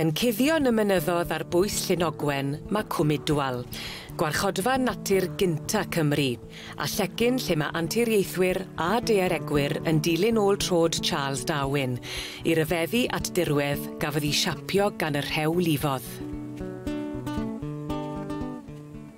Yn cuddio yn y mynyddodd ar bwys Llyn Ogwen ma' Cwm Idwal, gwarchodfa natur gynta Cymru, a llecyn lle ma' anturiaethwyr a daearegwyr yn dilyn ôl trod Charles Darwin i ryfeddu at dirwedd gafodd 'i siapio gan y rhew lifodd.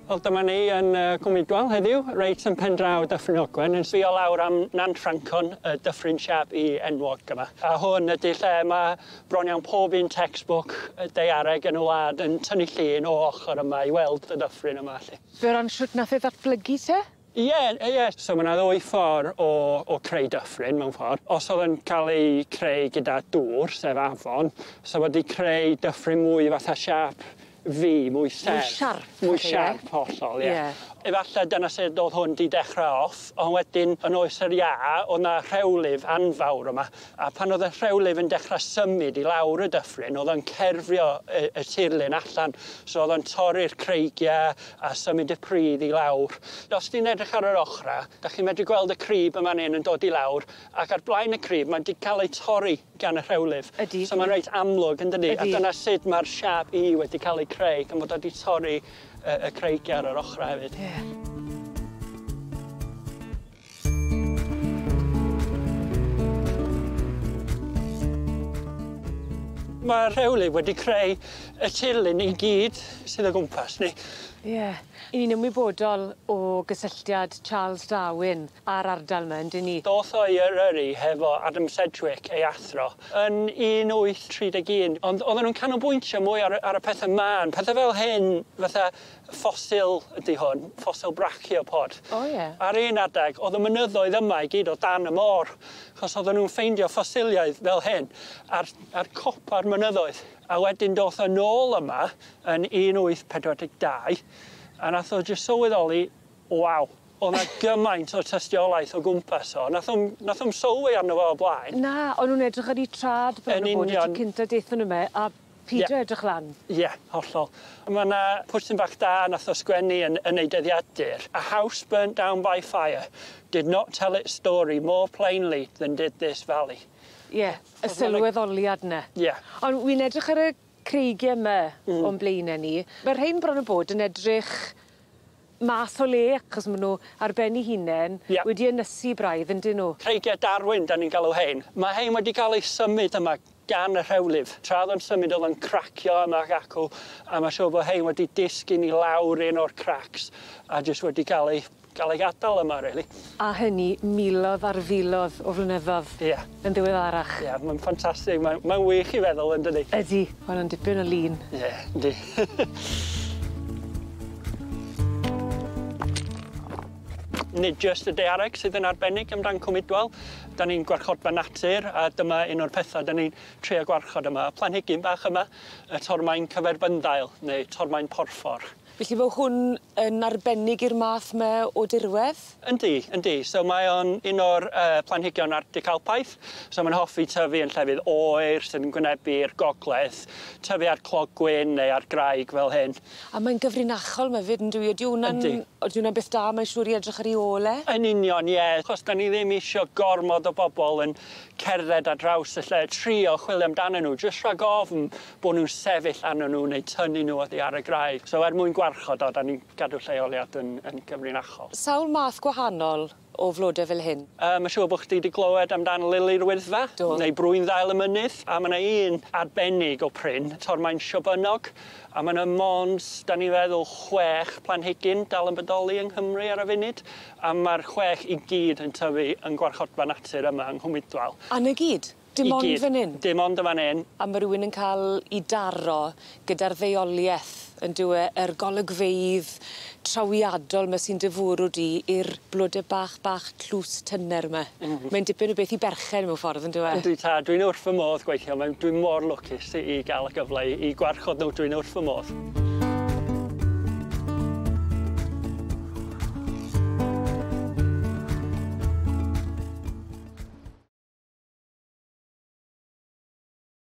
Wel dyma ni yn Cwm Idwal heddiw, reit yn pen draw Dyffryn Ogwen, yn sbio lawr am Nant Ffrancon, y dyffryn siâp U enwog yma. A hwn ydi lle ma' bron iawn pob un textbook daeareg yn y wlad yn tynnu llun o ochor yma i weld y dyffryn yma 'lly. Be' o ran shwt nath e ddatblygu te? Ie ie so ma' 'na ddwy ffor o creu dyffryn mewn ffor. Os o'dd yn ca'l ei creu gyda dŵr, sef afon, sa wedi creu dyffryn mwy fatha siâp V, mwy serth. Mwy siarp. Mwy siarp hollol ie. Ie. Efalle dyna sut o'dd hwn 'di dechre off on' wedyn yn oes yr iâ o'dd 'na rhewlif anfawr yma a pan o'dd y rhewlif yn dechre symud i lawr y dyffryn o'dd o'n cerfio y tirlun allan so o'dd o'n torri'r creigie a symud y pridd i lawr. Os ti'n edrych ar yr ochra 'dach chi'n medru gweld y crib yn fan 'yn yn dod i lawr ac ar blaen y crib mae 'di ca'l ei torri gan y rhewlif. Ydi. So ma'n reit amlwg yndydi? Ydi. A dyna sut ma'r siâp U wedi ca'l ei creu gan fod o 'di torri y creigie ar yr ochra hefyd. Ie. Ma'r rhewlif wedi creu y tirlun i gyd sydd o gwmpas ni. Ie. 'Yn ni'n ymwybodol o gysylltiad Charles Darwin â'r ardal 'ma yndyn ni? Doth o i Eryri hefo Adam Sedgwick ei athro yn 1831 ond odden nw'n canolbwyntio mwy ar y ar y pethe mân, pethe fel hyn fatha ffosil ydi hwn, ffosil brachiopod. O ie. Ar un adeg o'dd y mynyddoedd yma i gyd o dan y môr achos odden nw'n ffeindio ffosiliaeth fel hyn ar copa'r mynyddoedd. A wedyn doth o nôl yma yn 1842 a nath o jyst sylweddoli, waw, o'dd 'na gymaint o tystiolaeth o gwmpas o, nath o'm sylwi arno fo o blaen. Na, o'n nw'n edrych ar 'u trad bron Yn a bod y tro union. cynta dethon nw 'my a pido Ie. edrych lan. Ie, hollol. Ma' 'na pwrsyn bach da nath o sgwennu yn ei dyddiadur. A house burnt down by fire did not tell its story more plainly than did this valley. Ie, y sylweddoliad 'ny. Ie. Ond wi'n edrych ar y creigie 'my o'n blaene ni. Ma' rhein bron a bod yn edrych mas o le achos ma' nw ar ben 'u hunen. Ie. Wedi ynysu braidd yndyn nw? Creigie Darwin 'dan ni'n galw hein. Ma' hein wedi ca'l eu symud yma gan y rhewlif. Tra o'dd o'n symud o'dd o'n cracio yma ac acw a ma' siŵr bo' hein wedi disgyn i lawr un o'r cracks a jyst wedi ca'l ei gadal yma rili. A hynny milodd ar filodd o flynyddodd. Ie. Yn ddiweddarach. Ie, ma'n ffantastig, mae'n wych i feddwl yndydi? Ydi, ma' wnna'n dipyn o lun. Ie, yndi. Nid jyst y daeareg sydd yn arbennig amdan Cwm Idwal. 'Dan ni'n gwarchodfa natur a dyma un o'r petha 'dan ni'n trio gwarchod yma. Y planhigyn bach yma, y tormaen cyferbynddail neu tormaen porffor. Felly ma' hwn yn arbennig i'r math 'ma o dirwedd? Yndi, yndi. So mae o'n un o'r planhigion Arctic Alpaidd. So ma'n hoffi tyfu yn llefydd oer sydd yn gwynebu'r gogledd, tyfu ar clogwyn neu ar graig fel hyn. A mae'n gyfrinachol 'ma 'fyd yndyw 'i? Ydi wnna'n Yndi. Ydi wnna'n beth da mae'n siŵr i edrych ar 'i ôl e? Yn union, ie. Achos 'dan ni ddim isio gormod o bobl yn cerdded ar draws y lle, trio chwilio amdanyn nhw, jyst rhag ofn bo' nw'n sefyll arnyn nhw neu tynnu nhw oddi ar y graig. So er mwyn gwarchod o, 'dan ni'n gadw lleoliad yn gyfrinachol. Sawl math gwahanol o flode fel hyn? Ma' siŵr bo' chdi 'di glywed amdan Lili'r Wyddfa. Do. Neu Brwynddail y Mynydd, a ma' 'na un arbennig o prin, tormaen Siobynnog, a ma' 'na mond, 'dan ni feddwl, 6 planhigyn dal yn bodoli yng Nghymru ar y funud, a ma'r 6 i gyd yn tyfu yn gwarchodfa natur yma yng Nghwm Idwal. A 'na gyd? Dim I ond gyd. fan 'yn? Dim ond yn fan 'yn. A ma' rywun yn ca'l 'i daro gyda'r ddeuolieth yndyw e, yr golygfeydd trawiadol 'ma sy'n dy fwrw di i'r blode bach bach tlws tyner 'ma. Mae'n dipyn o beth i berchen mewn ffordd yndyw e? Yndi tad, dwi'n wrth fy modd gweithio, dwi'n mor lwcus i ga'l y gyfle i gwarchod nhw, dwi'n wrth fy modd.